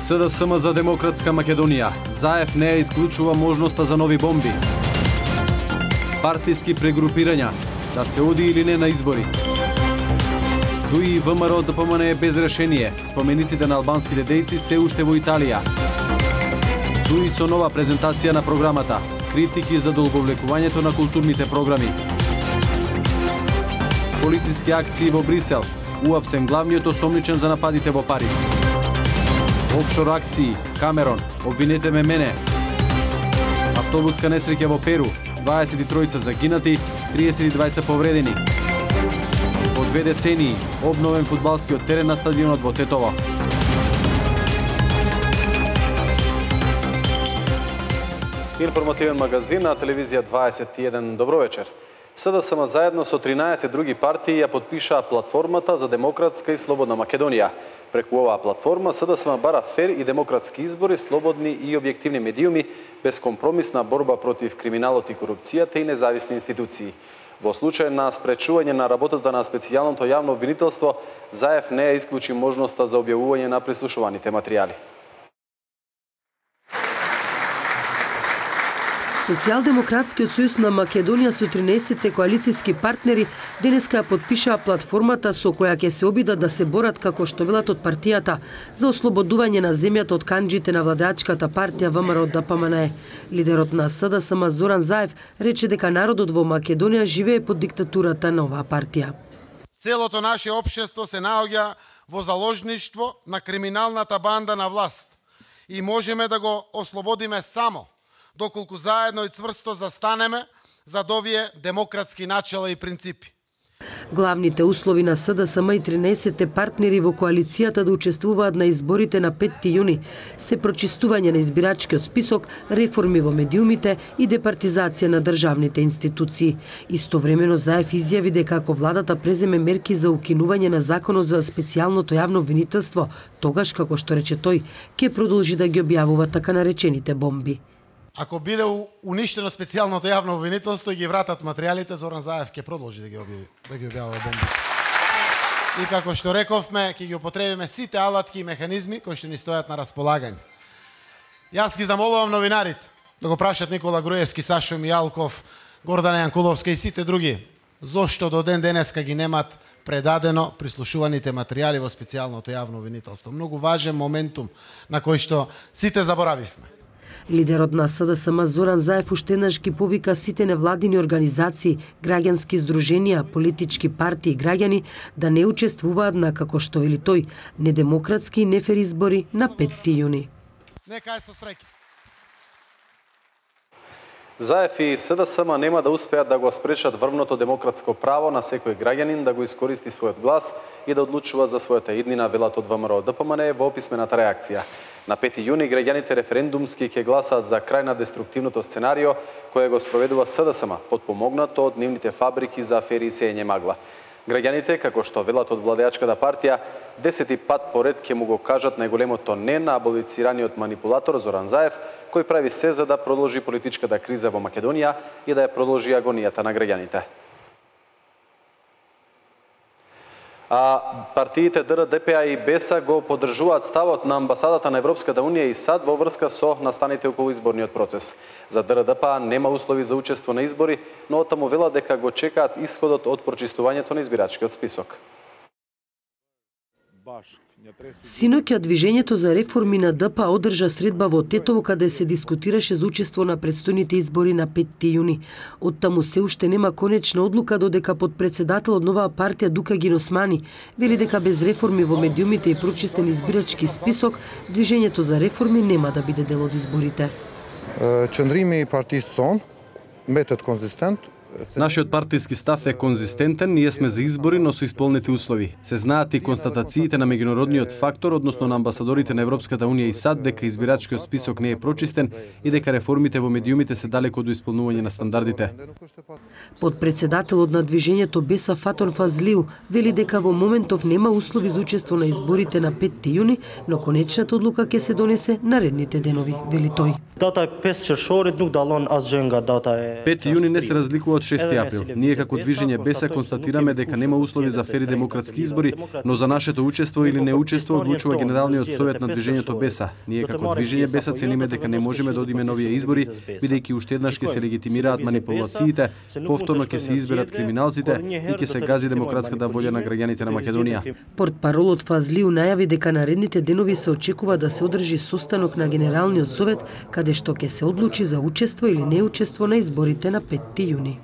СДСМ за демократска Македонија. Заев не исклучува можноста за нови бомби. Партиски прегрупирања, да се оди или не на избори. ДУИ и ВМРО ДПМН е без решение. Спомениците на албанските дејци се уште во Италија. ДУИ со нова презентација на програмата. Критики за долговлекувањето на културните програми. Полициски акции во Брисел. Уапсен главниот осомничен за нападите во Париз. Офшор акции. Камерон. Обвинете ме мене. Автобуска несреќа во Перу. 23 загинати, 32 повредени. По 2 децении обновен фудбалскиот терен на стадионот во Тетово. Информативен магазин на телевизија 21. Добро вечер. СДСМ заедно со 13 други партии ја подпишаа платформата за демократска и слободна Македонија. Преку оваа платформа СДСМ бара фер и демократски избори, слободни и објективни медиуми, безкомпромисна борба против криминалот и корупцијата и независни институции. Во случај на спречување на работата на специјалното јавно обвинителство, Заев не ја исклучи можноста за објавување на прислушуваните материјали. Социјалдемократскиот сојуз на Македонија со 13 коалициски партнери денеска подпишаа платформата со која ќе се обидат да се борат, како што велат од партијата, за ослободување на земјата од канџите на владеачката партија ВМРО ДПМН. Лидерот на СДСМ Зоран Заев рече дека народот во Македонија живее под диктатурата на оваа партија. Целото наше општество се наоѓа во заложништво на криминалната банда на власт и можеме да го ослободиме само доколку заедно и цврсто застанеме за овие демократски начела и принципи. Главните услови на СДСМ и 13 партнери во коалицијата да учествуваат на изборите на 5 јуни се прочистување на избирачкиот список, реформи во медиумите и департизација на државните институции. Истовремено Заев изјави дека ако владата преземе мерки за укинување на законот за специјалното јавно обвинителство, тогаш, како што рече тој, ќе продолжи да ги објавува така наречените бомби. Ако биде уништено специјалното јавно обвинителство и ги вратат материјалите, Зоран Заев ќе продолжи да ги објавува бомби. И како што рековме, ќе ги употребиме сите алатки и механизми кои што ни стојат на располагање. Јас ги замолувам новинарите да го прашат Никола Груевски, Сашо Мијалков, Гордана Јанкуловска и сите други, зошто до ден денеска ги немат предадено прислушуваните материјали во специјалното јавно обвинителство. Многу важен моментум на кој што сите заборавивме. Лидерот на СДСМ Зоран Заев уште еднаш ги повика сите невладини организации, граѓански здруженија, политички партии и граѓани да не учествуваат на, како што вели тој, недемократски и нефер избори на 5 јуни. Нека е со среќа. Заев и СДСМ нема да успеат да го спречат врвното демократско право на секој граѓанин да го искористи својот глас и да одлучува за својата иднина, велат од ВМРО ДПМН во писмената реакција. На 5 јуни граѓаните референдумски ќе гласаат за крај на деструктивното сценарио кое го спроведува СДСМ, подпомогнато од нивните фабрики за афери и сеење магла. Граѓаните, како што велат од владеачката партија, 10 пат поред ќе му го кажат најголемото не на аболицираниот манипулатор Зоран Заев, кој прави се за да продолжи политичката криза во Македонија и да ја продолжи агонијата на граѓаните. А партиите ДР, ДПА и БЕСА го поддржуваат ставот на амбасадата на Европската Унија и САД во врска со настаните околу изборниот процес. За ДР, ДПА нема услови за учество на избори, но оттаму велат дека го чекаат исходот од прочистувањето на избирачкиот список. Синоќа движењето за реформи на ДПА одржа средба во Тетово каде се дискутираше за учество на претстојните избори на 5 јуни. Оттаму се уште нема конечна одлука додека подпредседател од новаа партија Дукагин Османи вели дека без реформи во медиумите и прочистен избирачки список, движењето за реформи нема да биде дел од изборите. Qëndrimi i partisë son mbetet konzistent. Нашиот партиски став е конзистентен, ние сме за избори, но со исполнети услови. Се знаат и констатациите на меѓународниот фактор, односно на амбасадорите на Европската Унија и САД, дека избирачкиот список не е прочистен и дека реформите во медиумите се далеко до исполнување на стандардите. Подпредседателот на движењето БЕСА Фатон Фазлиу вели дека во моментов нема услови за учество на изборите на 5 јуни, но конечната одлука ќе се донесе наредните денови, вели тој. Дата е 5 qershorit, nuk dallon asgjë nga data e 5 јуни не се разликува од од 6 април. Ние како движење Беса констатираме дека нема услови за фери демократски избори, но за нашето учество или неучество одлучува Генералниот совет на движењето Беса. Ние како движење Беса цениме дека не можеме да одиме на овие избори, бидејќи уште еднаш ќе се легитимираат манипулациите, повторно ќе се изберат криминалците и ќе се гази демократската волја на граѓаните на Македонија. Портпаролот Фазлиу најави дека наредните денови се очекува да се одржи состанок на Генералниот совет, каде што ќе се одлучи за учество или неучество на изборите на 5 јуни.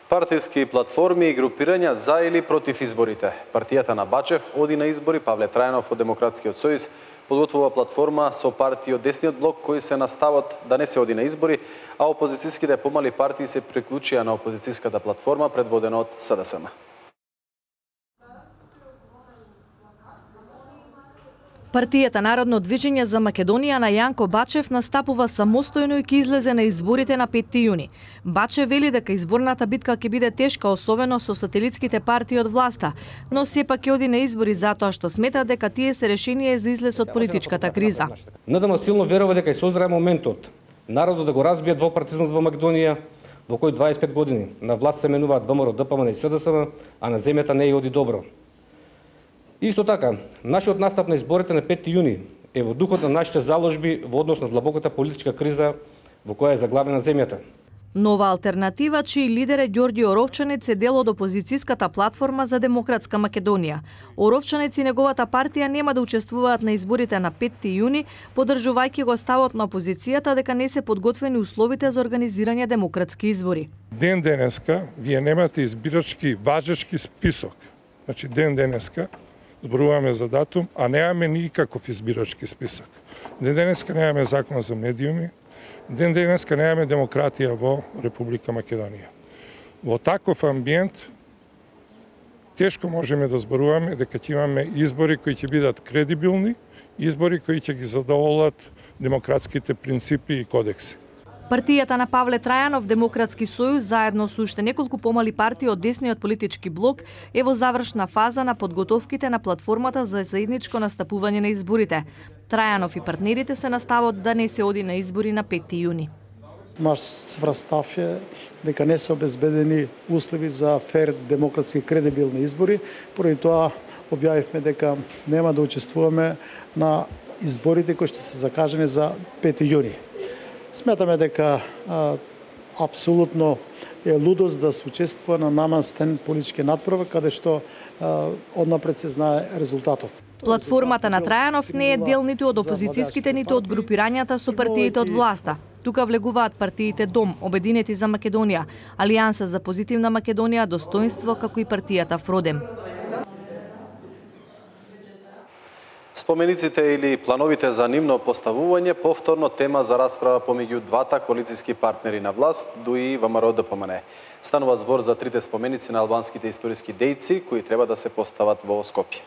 Партиски платформи и групирања за или против изборите. Партијата на Бачев оди на избори, Павле Трајанов од Демократскиот сојуз подготвува платформа со партии од десниот блок кои се на ставот да не се оди на избори, а опозицијските помали партии се приклучија на опозицијската платформа предводена од СДСМ. Партијата Народно движење за Македонија на Јанко Бачев настапува самостојно и ќе излезе на изборите на 5 јуни. Бачев вели дека изборната битка ќе биде тешка, особено со сателитските партии од власта, но сепак ќе оди на избори затоа што смета дека тие се решение за излез од политичката криза. НДМ силно верува дека ќе се оздрае моментот народот да го разбие двопартизмот во Македонија, во кој 25 години на власт се менуваат ВМРО, ДПМН и СДСМ, а на земјата не ја оди добро. Исто така, нашиот настап на изборите на 5 јуни е во духот на нашите заложби во однос на длабоката политичка криза во која е заглавена земјата. Нова алтернатива, чиј лидер е Ѓорѓи Оровчанец, е дел од опозицијската платформа за демократска Македонија. Оровчанец и неговата партија нема да учествуваат на изборите на 5 јуни, поддржувајќи го ставот на опозицијата дека не се подготвени условите за организирање демократски избори. Ден денеска вие немате избирачки важечки список. Значи ден денеска зборуваме за датум, а немаме никаков избирачки список. Ден денеска немаме закон за медиуми, ден денеска немаме демократија во Република Македонија. Во таков амбиент тешко можеме да зборуваме дека ќе имаме избори кои ќе бидат кредибилни, избори кои ќе ги задоволат демократските принципи и кодекси. Партијата на Павле Трајанов, Демократски сојуз, заедно со уште неколку помали партии од десниот политички блок, е во завршна фаза на подготовките на платформата за заедничко настапување на изборите. Трајанов и партнерите се на ставот да не се оди на избори на 5 јуни. Наш цврст став е дека не се обезбедени услови за фер, демократски, кредибилни избори. Поради тоа објавивме дека нема да учествуваме на изборите кои што се закажани за 5 јуни. Сметаме дека апсолутно е лудост да се учествува на намастен политички надпревар, каде што однапред се знае резултатот. Платформата на Трајанов не е дел ниту од опозицијските, ниту од групирањата со партиите од власта. Тука влегуваат партиите Дом, Обединети за Македонија, Алијанса за позитивна Македонија, Достоинство, како и партијата Фродем. Спомениците или плановите за нивно поставување повторно тема за расправа помеѓу двата коалицијски партнери на власт, ДУИ и ВМРО ДПМН. Станува збор за трите споменици на албанските историски дејци кои треба да се постават во Скопје.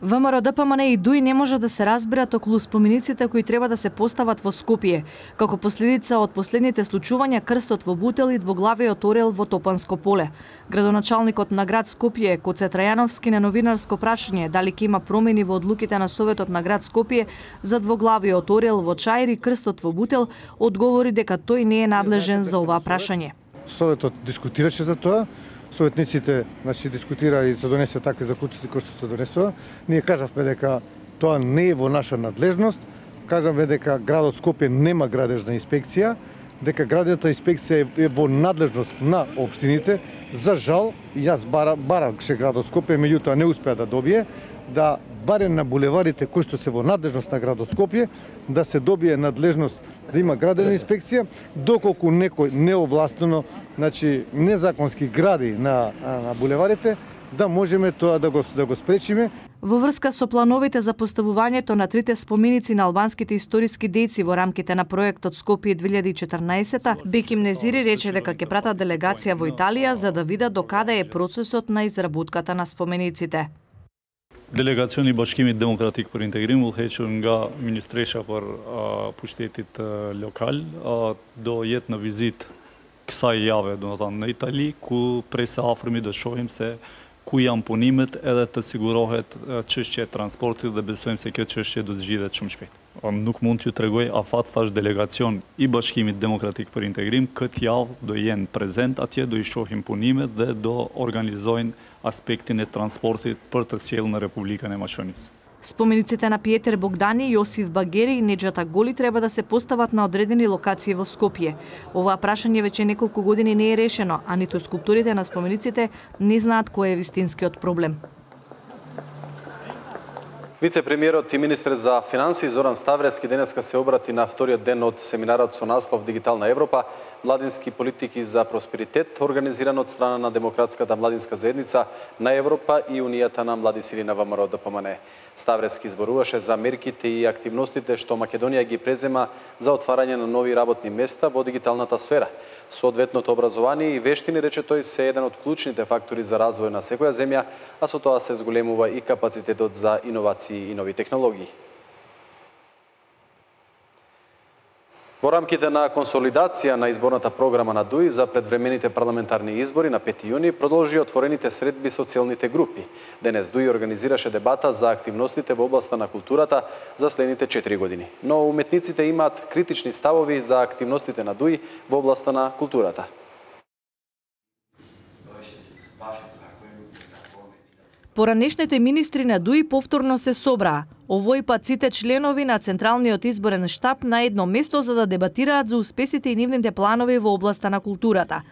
ВМРО ДПМН и ДУИ не може да се разберат околу спомениците кои треба да се постават во Скопје, како последица од последните случувања крстот во Бутел и двоглавиот орел во Топанско поле. Градоначалникот на град Скопје, Коце Трајановски, на новинарско прашање дали ќе има промени во одлуките на Советот на град Скопје за двоглавиот орел во Чаир и крстот во Бутел, одговори дека тој не е надлежен за оваа прашање. Советот дискутираше за тоа. Советниците дискутира и се донесе такви заклучоци кои што се донесува. Ние кажавме дека тоа не е во наша надлежност. Кажавме дека градот Скопје нема градежна инспекција, дека градната инспекција е во надлежност на општините. За жал, јас бараше градот Скопје, меѓутоа не успеа да добие, да барем на булеварите кои што се во надлежност на градот Скопје, да се добие надлежност да има градена инспекција, доколку некој неовластено, незаконски гради на булеварите, да можеме тоа да го спречиме. Во врска со плановите за поставувањето на трите споменици на албанските историски дејци во рамките на проектот Скопје 2014, Беким Незири рече дека ќе пратат делегација во Италија за да видат докаде е процесот на изработката на спомениците. Делегациoni Bashkimit Demokratik për Integrim u hequr nga Ministresha për pushtetit lokal do jetë në vizitë kësaj jave, do të thënë në Itali, ku prej së afërmi do shohim se кои janë punimet edhe të sigurohet çështja e transportit dhe besojmë se kjo çështje do të zgjidhet shumë shpejt. Nuk mund t'ju tregoj afat thash delegacion i Bashkimit Demokratik për Integrim këtë javë do jenë prezent atje, do i shohim punimet dhe do organizojnë aspektin e transportit për të sjellë në Republikën e Maqedonisë. Спомениците на Пиетер Богдани, Јосиф Багери и Неџата Голи треба да се постават на одредени локации во Скопје. Ова прашање веќе неколку години не е решено, а ниту скулпторите на спомениците не знаат кој е вистинскиот проблем. Вице-премиерот и министер за финансии Зоран Ставрески денеска се обрати на вториот ден од семинарот со наслов Дигитална Европа, младински политики за просперитет, организиран од страна на Демократската младинска заедница на Европа и Унијата на млади сили на ВМРО ДПМН. Ставрески зборуваше за мерките и активностите што Македонија ги презема за отварање на нови работни места во дигиталната сфера. Соодветното образование и вештини, рече тој, се еден од клучните фактори за развој на секоја земја, а со тоа се зголемува и капацитетот за иновации и нови технологии. Во рамките на консолидација на изборната програма на ДУИ за предвремените парламентарни избори на 5 јуни продолжи отворените средби со целните групи. Денес ДУИ организираше дебата за активностите во областа на културата за следните 4 години. Но уметниците имаат критични ставови за активностите на ДУИ во областа на културата. Поранешните министри на ДУИ повторно се собраа. Овој пат сите членови на Централниот изборен штаб на едно место за да дебатираат за успесите и нивните планови во областа на културата.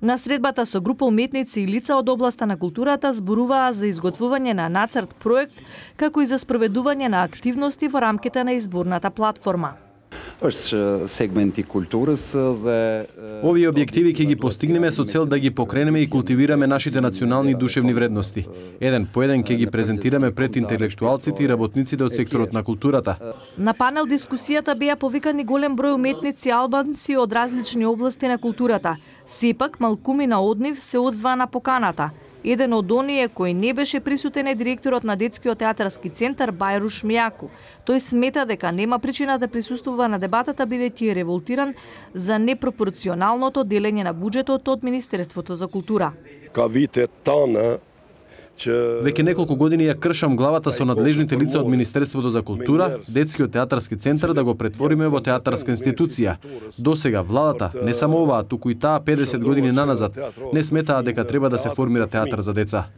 На средбата со група уметници и лица од областа на културата зборуваа за изготвување на нацрт проект, како и за спроведување на активности во рамките на изборната платформа. Сегменти културас dhe Овие објективи ќе ги постигнеме со цел да ги покренеме и култивираме нашите национални душевни вредности. Еден по еден ќе ги презентираме пред интелектуалците и работниците од секторот на културата. На панел дискусијата беа повикани голем број уметници албанци од различни области на културата. Сепак малкумина од нив се одзваа на поканата. Еден од оние кој не беше присутен е директорот на Детскиот театарски центар Бајруш Мјаку. Тој смета дека нема причина да присуствува на дебатата бидејќи е револтиран за непропорционалното делење на буџетот од Министерството за култура. Веќе неколку години ја кршам главата со надлежните лица од Министерството за култура, Детскиот театарски центар да го претвориме во театарска институција. Досега владата, не само оваа, туку и таа 50 години наназад, не сметаа дека треба да се формира театар за деца.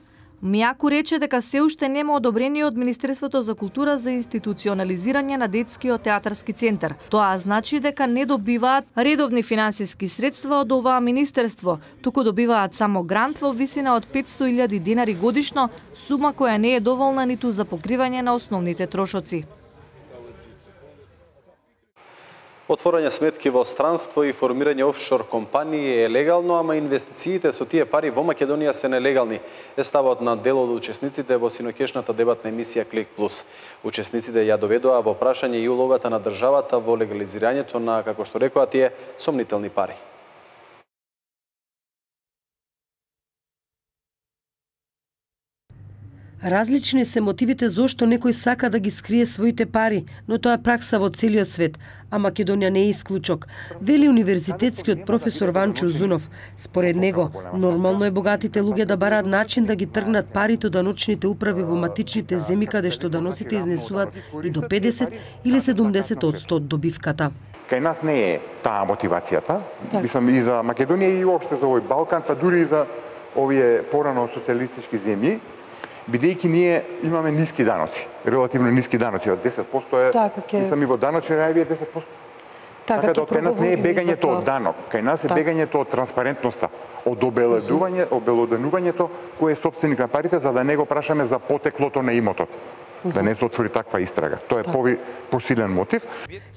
Мјаку рече дека се уште нема одобрение од Министерството за култура за институционализирање на Детскиот театарски центар. Тоа значи дека не добиваат редовни финансиски средства од оваа министерство, туку добиваат само грант во висина од 500.000 денари годишно, сума која не е доволна ниту за покривање на основните трошоци. Отворање сметки во странство и формирање офшор компании е легално, ама инвестициите со тие пари во Македонија се нелегални, е ставот на дел од учесниците во синокешната дебатна емисија Клик Плюс. Учесниците ја доведоа во прашање и улогата на државата во легализирањето на, како што рекоа тие, сомнителни пари. Различни се мотивите зошто некој сака да ги скрие своите пари, но тоа е пракса во целиот свет, а Македонија не е исклучок, вели универзитетскиот професор Ванчо Узунов. Според него, нормално е богатите луѓе да бараат начин да ги тргнат парите од даночните управи во матичните земји каде што даноците изнесуваат и до 50 или 70% од добивката. Кај нас не е таа мотивацијата, мислам и за Македонија и уопште за овој Балкан, па дури и за овие порано социјалистички земји, бидејќи ние имаме ниски даноци, релативно ниски даноци, од 10% е, мислам и во даночни рајови е 10%. Така да кај нас не е бегањето од данок, кај нас е бегањето од транспарентноста, од обелоденувањето кој е собственик на парите, за да не го прашаме за потеклото на имотот. Да не се отвори таква истрага. Тоа е посилен мотив.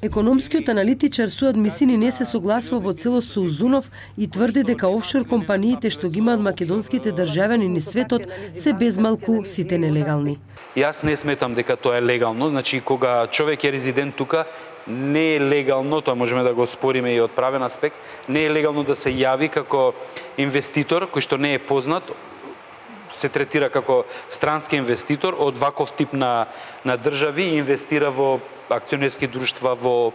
Економскиот аналитичар Суад Мисини не се согласува во целост со Узунов и тврди дека офшор компаниите што ги имаат македонските државјани низ светот се безмалку сите нелегални. Јас не сметам дека тоа е легално, значи кога човек е резидент тука, не е легално, тоа можеме да го спориме и од правен аспект, не е легално да се јави како инвеститор кој што не е познат, се третира како странски инвеститор од ваков тип на држави и инвестира во акционерски друштва, во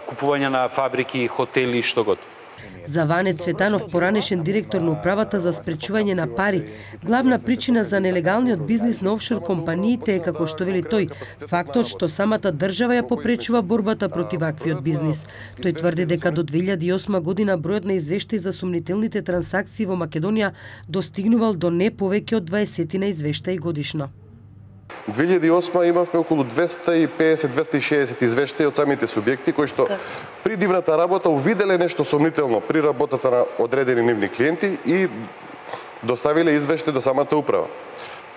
купување на фабрики, хотели и што год. За Ване Цветанов, поранешен директор на управата за спречување на пари, главна причина за нелегалниот бизнис на офшор компаниите е, како што вели тој, фактот што самата држава ја попречува борбата против ваквиот бизнис. Тој тврди дека до 2008 година бројот на извештаи за сумнителните трансакции во Македонија достигнувал до не повеќе од 20 на извештаи годишно. 2008 имавме околу 250-260 извештаи од самите субјекти кои што при нивната работа увиделе нешто сомнително при работата на одредени нивни клиенти и доставиле извештаи до самата управа.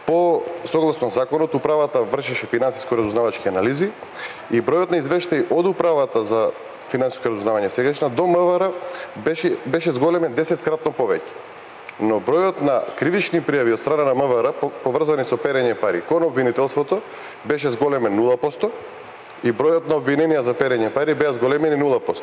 По согласно законот, управата вршеше финансиско разузнавачки анализи и бројот на извештаи од управата за финансиско разузнавање сегашна до МВР беше зголемен 10-кратно повеќе. Но бројот на кривични пријави од страна на МВР поврзани со перење пари кон обвинителството беше зголемен 0% и бројот на обвиненија за перење пари беа зголемени 0%.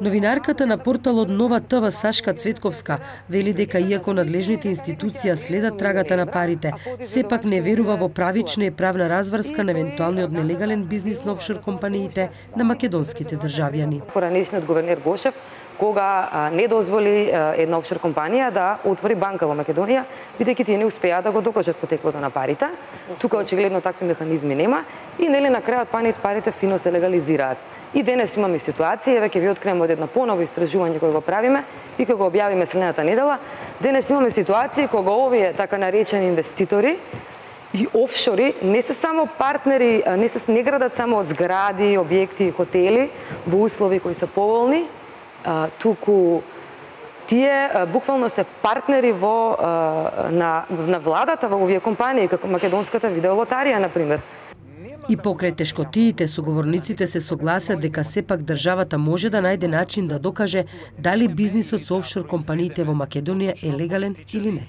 Новинарката на порталот Нова ТВ Сашка Цветковска вели дека иако надлежните институции следат трагата на парите, сепак не верува во правична и правна разврска на евентуалниот нелегален бизнис на офшор компаниите на македонските државјани. Поранешниот гувернер Гошев кога не дозволи една офшор компанија да отвори банка во Македонија, бидејќи тие не успеа да го докажат потеклото на парите. Тука очигледно такви механизми нема и нели на крајот парите фино се легализираат. И денес имаме ситуација, еве ќе ви открием од едно поново истражување кое го правиме и кога го објавиме следната недела, денес имаме ситуација кога овие така наречени инвеститори и офшори не се само партнери, не градат само згради, објекти и хотели во услови кои се поволни, туку тие буквално се партнери на владата во овие компании, како македонската видеолотарија, например. И покрај тешкотиите, соговорниците се согласат дека сепак државата може да најде начин да докаже дали бизнисот со офшор компаниите во Македонија е легален или не.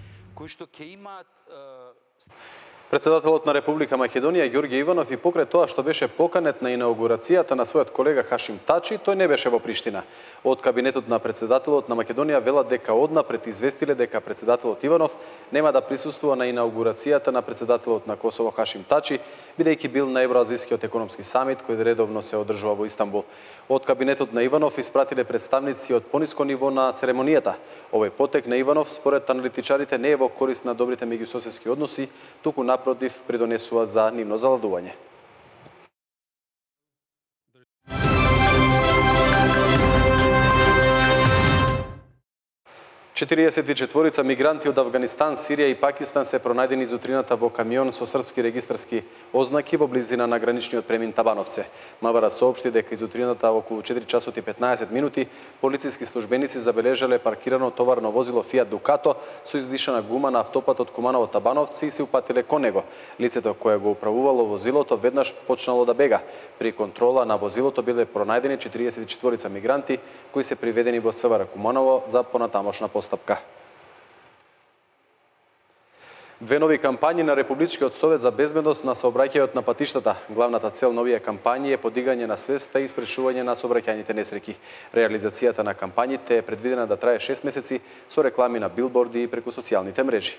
Председателот на Република Македонија Ѓорѓе Иванов и покрај тоа што беше поканет на инаугурацијата на својот колега Хашим Тачи, тој не беше во Приштина. Од кабинетот на председателот на Македонија велат дека однапред известиле дека председателот Иванов нема да присуствува на инаугурацијата на председателот на Косово Хашим Тачи, бидејќи бил на Евроазискиот економски самит кој редовно се одржува во Истанбул. Од кабинетот на Иванов испратиле представници од пониско ниво на церемонијата. Овој потек на Иванов според аналитичарите не е во корист на добрите меѓусоседски односи, туку напротив придонесува за нивно заладување. Четириесетичетворица мигранти од Авганистан, Сирија и Пакистан се пронајдени изутрината во камион со српски регистарски ознаки во близина на граничниот премин Табановце. МВР соопшти дека изутрината околу 4 часот и 15 минути полициски службеници забележале паркирано товарно возило Fiat Ducato со издишана гума на автопатот Куманово Табановци и се упатиле кон него. Лицето кое го управувало возилото веднаш почнало да бега. При контрола на возилото биле пронајдени 44 мигранти кои се приведени во СВР Куманово за понатамошна постапка. Две нови кампањи на Републичкиот совет за безбедност на сообраќајот на патиштата. Главната цел на овие кампањи е подигање на свеста и спречување на сообраќајните несреќи. Реализацијата на кампањите е предвидена да трае 6 месеци со реклами на билборди и преку социјалните мрежи.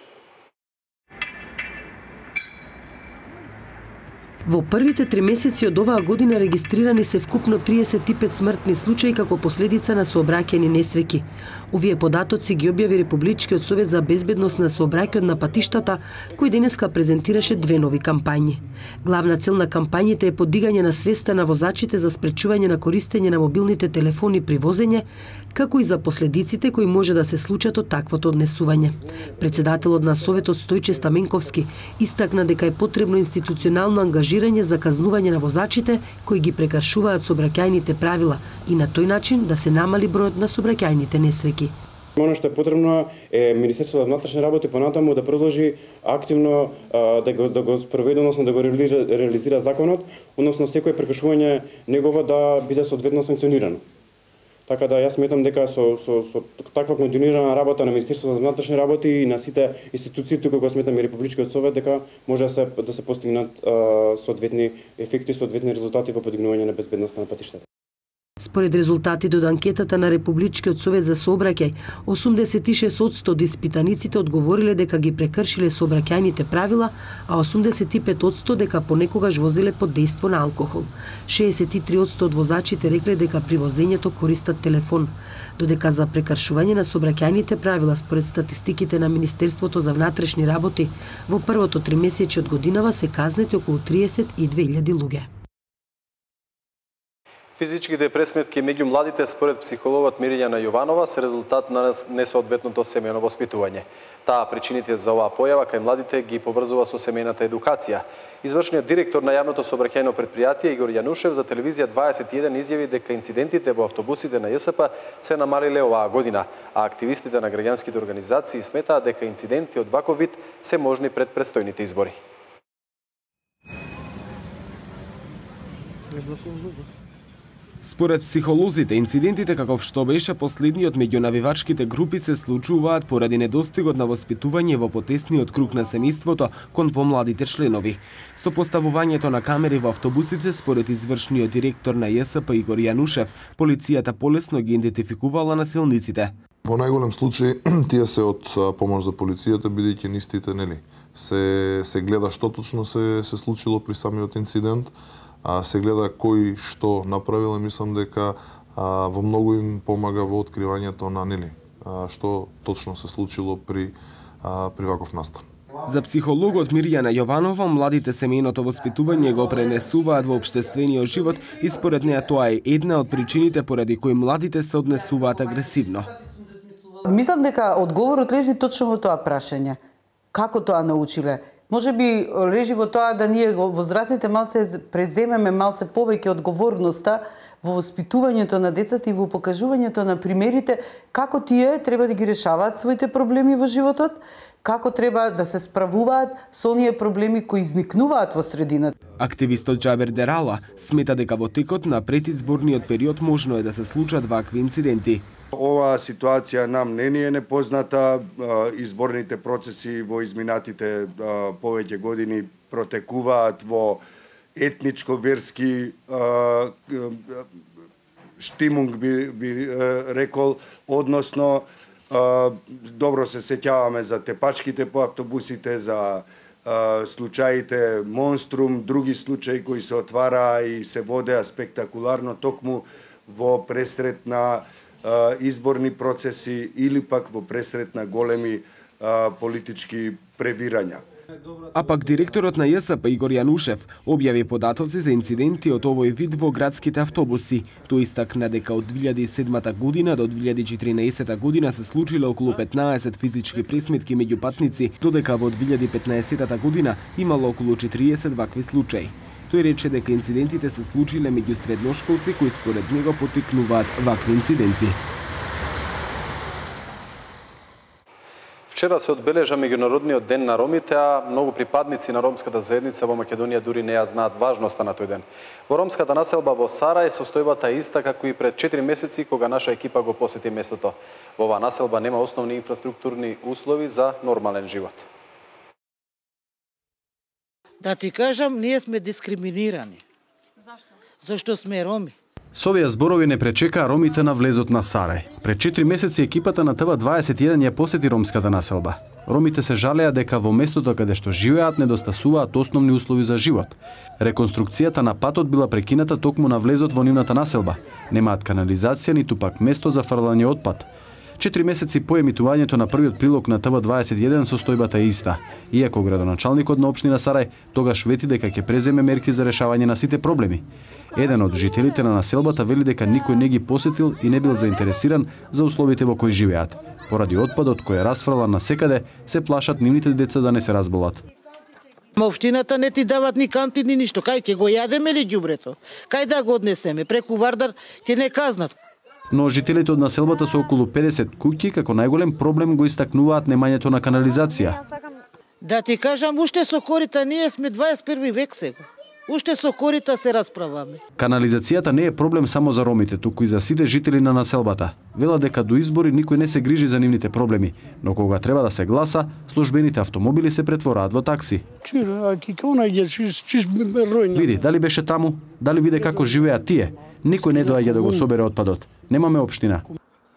Во првите 3 месеци од оваа година регистрирани се вкупно 35 смртни случаи како последица на сообраќајни несреќи. Овие податоци ги објави Републичкиот совет за безбедност на сообраќајот на патиштата, кој денеска презентираше две нови кампањи. Главна цел на кампањите е подигање на свеста на возачите за спречување на користење на мобилните телефони при возење, како и за последиците кои може да се случат од таквото однесување. Председателот на Советот Стојче Стаменковски истакна дека е потребно институционално ангажирање за казнување на возачите кои ги прекршуваат сообраќајните правила и на тој начин да се намали бројот на сообраќајните несреќи. Оно што е потребно е Министерството за внатрешни работи понатаму да продолжи активно да го спроведе, односно да го реализира законот, односно секој прекршување негова да биде соодветно санкционирано. Така да јас сметам дека со таква континуирана работа на Министерството за внатрешни работи и на сите институции, тука го сметам и Републичкиот совет, дека може да се постигнат соодветни ефекти, соодветни резултати во подигнување на безбедноста на патиштата. Според резултатите од анкетата на Републичкиот совет за сообраќај, 86% од испитаниците одговориле дека ги прекршиле сообраќајните правила, а 85% дека понекогаш возеле под дејство на алкохол. 63% од возачите рекле дека при возењето користат телефон, додека за прекршување на сообраќајните правила според статистиките на Министерството за внатрешни работи, во првото тримесечје од годинава се казнети околу 32.000 луѓе. Физичките пресметки меѓу младите според психологот Мирјана Јованова се резултат на несоодветното семејно воспитување. Таа причините за оваа појава кај младите ги поврзува со семејната едукација. Извршниот директор на јавното сообраќајно предпријатие Игор Јанушев за телевизија 21 изјави дека инцидентите во автобусите на ЈСП се намалиле оваа година, а активистите на граѓанските организации сметаат дека инциденти од ваков вид се можни пред предстојните избори. Според психолозите, инцидентите каков што беше последниот меѓу навивачките групи се случуваат поради недостигот на воспитување во потесниот круг на семејството кон помладите членови. Со поставувањето на камери во автобусите, според извршниот директор на ЈСП Игор Јанушев, полицијата полесно ги идентификувала насилниците. Во најголем случај тие се од помош за полицијата, бидејќи нистите нели се гледа што точно се случило при самиот инцидент. Се гледа кој што направил и мислам дека во многу им помага во откривањето на нели што точно се случило при ваков настан. За психологот Мирјана Јованова, младите семејното воспитување го пренесуваат во општествениот живот и според неа тоа е една од причините поради кои младите се однесуваат агресивно. Мислам дека одговорот лежи точно во тоа прашање. Како тоа научиле? Може би лежи во тоа да ние возрастните малце преземеме малце повеќе одговорноста во воспитувањето на децата и во покажувањето на примерите како тие треба да ги решаваат своите проблеми во животот, како треба да се справуваат со оние проблеми кои изникнуваат во средината. Активистот Џабер Дерала смета дека во текот на предизборниот период можно е да се случат вакви инциденти. Оваа ситуација нам не ни е непозната. Изборните процеси во изминатите повеќе години протекуваат во етничко-верски штимунг би рекол, односно добро се сеќаваме за тепачките по автобусите, за случаите Монструм, други случаи кои се отвараа и се водеа спектакуларно токму во пресрет на изборни процеси или пак во пресрет на големи политички превирања. А пак директорот на ЈСП Игор Јанушев објави податоци за инциденти од овој вид во градските автобуси. Тој истакна дека од 2007 година до 2014 година се случиле околу 15 физички пресметки меѓу патници, додека во 2015 година имало околу 40 вакви случаи. Тој рече дека инцидентите се случиле меѓу средношколци кои според него поттикнуваат вакви инциденти. Вчера се одбележа меѓународниот ден на ромите, а многу припадници на ромската заедница во Македонија дури не ја знаат важноста на тој ден. Во ромската населба во Сарај состојбата е иста како и пред 4 месеци кога наша екипа го посети местото. Во оваа населба нема основни инфраструктурни услови за нормален живот. Да ти кажам, ние сме дискриминирани. Зашто? Зашто сме роми. Со овие зборови не пречекаа ромите на влезот на Сарај. Пред 4 месеци екипата на ТВ21 ја посети ромската населба. Ромите се жалеа дека во местото каде што живеат недостасуваат основни услови за живот. Реконструкцијата на патот била прекината токму на влезот во нивната населба. Немаат канализација ниту пак место за фрлање отпад. 4 месеци по емитувањето на првиот прилог на ТВ21 состојбата е иста. Иако градоначалникот на општина Сарај тогаш вети дека ќе преземе мерки за решавање на сите проблеми. Еден од жителите на населбата вели дека никој не ги посетил и не бил заинтересиран за условите во кои живеат. Поради отпадот кој е расфрлан насекаде, се плашат нивните деца да не се разболат. Општината не ти дават ни канти ни ништо. Кај ќе го јадеме ли ѓубрето? Кај да го однесеме? Преку Вардар ќе не казнат. Но жителите од населбата со околу 50 куќи како најголем проблем го истакнуваат немањето на канализација. Да ти кажам, уште со корита ние сме 21 век сега. Уште со корита се расправаме. Канализацијата не е проблем само за ромите, туку и за сите жители на населбата. Вела дека до избори никој не се грижи за нивните проблеми, но кога треба да се гласа, службените автомобили се претвораат во такси. Види, дали беше таму, дали виде како живеат тие. Никој не доаѓа да го собере отпадот. Немаме општина.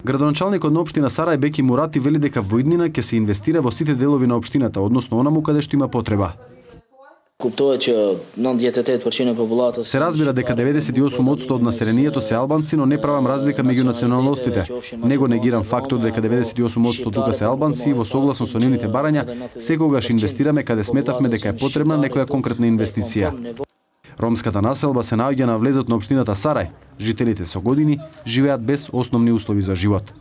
Градоначалникот на општина Сарај Беки Мурати вели дека во иднина ќе се инвестира во сите делови на општината, односно онаму каде што има потреба. Се разбира дека 98% од населението се албанци, но не правам разлика меѓу националностите. Не го негирам фактот дека 98% тука се албанци и во согласно со нивните барања, секогаш инвестираме каде сметавме дека е потребна некоја конкретна инвестиција. Ромската населба се наоѓа на влезот на општината Сарај. Жителите со години живеат без основни услови за живот.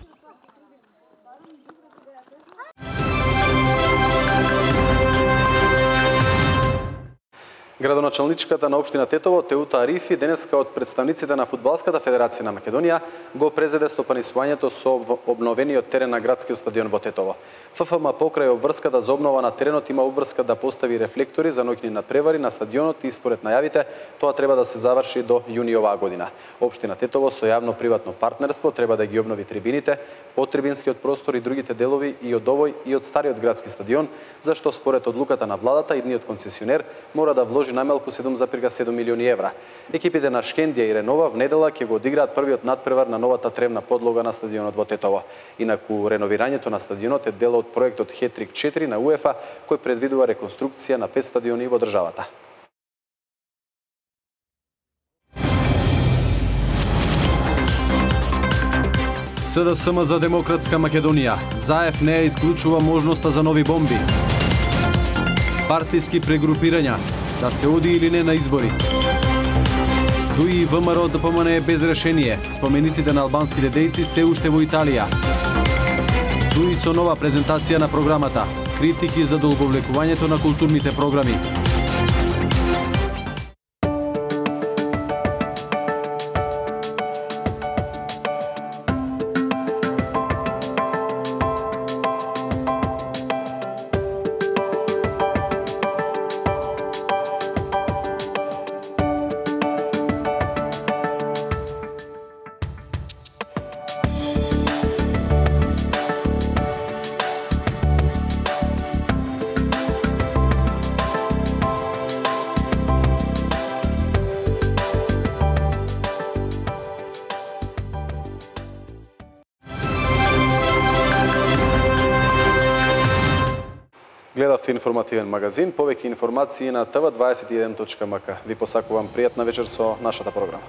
Градоначалничката на општина Тетово Теута Арифи денеска од представниците на Фудбалската федерација на Македонија го презеде стопанисувањето со обновениот терен на градскиот стадион во Тетово. ФФМ покрај обврската за обнова на теренот има обврска да постави рефлектори за ноќни надпревари на стадионот и според најавите тоа треба да се заврши до јуни оваа година. Општина Тетово со јавно-приватно партнерство треба да ги обнови трибините, потрибинскиот простор и другите делови и од овој и од стариот градски стадион, зашто според одлуката на владата идниот концесионер мора да вложи најмалку 7,7 милиони евра. Екипите на Шкендија и Ренова в недела ќе го одиграат првиот надпревар на новата тревна подлога на стадионот во Тетово. Инаку реновирањето на стадионот е дел од проектот Хетрик 4 на УЕФА, кој предвидува реконструкција на 5 стадиони во државата. СДСМ за демократска Македонија. Заев не ја исклучува можноста за нови бомби. Партиски прегрупирања. Да се оди или не на избори. ДУИ и ВМРО ДПМН е без решение. Спомениците на албанските дејци се уште во Италија. ДУИ со нова презентација на програмата. Критики за долговлекувањето на културните програми. Гледавте информативен магазин, повеќе информации на tv21.mk. Ви посакувам пријатна вечер со нашата програма.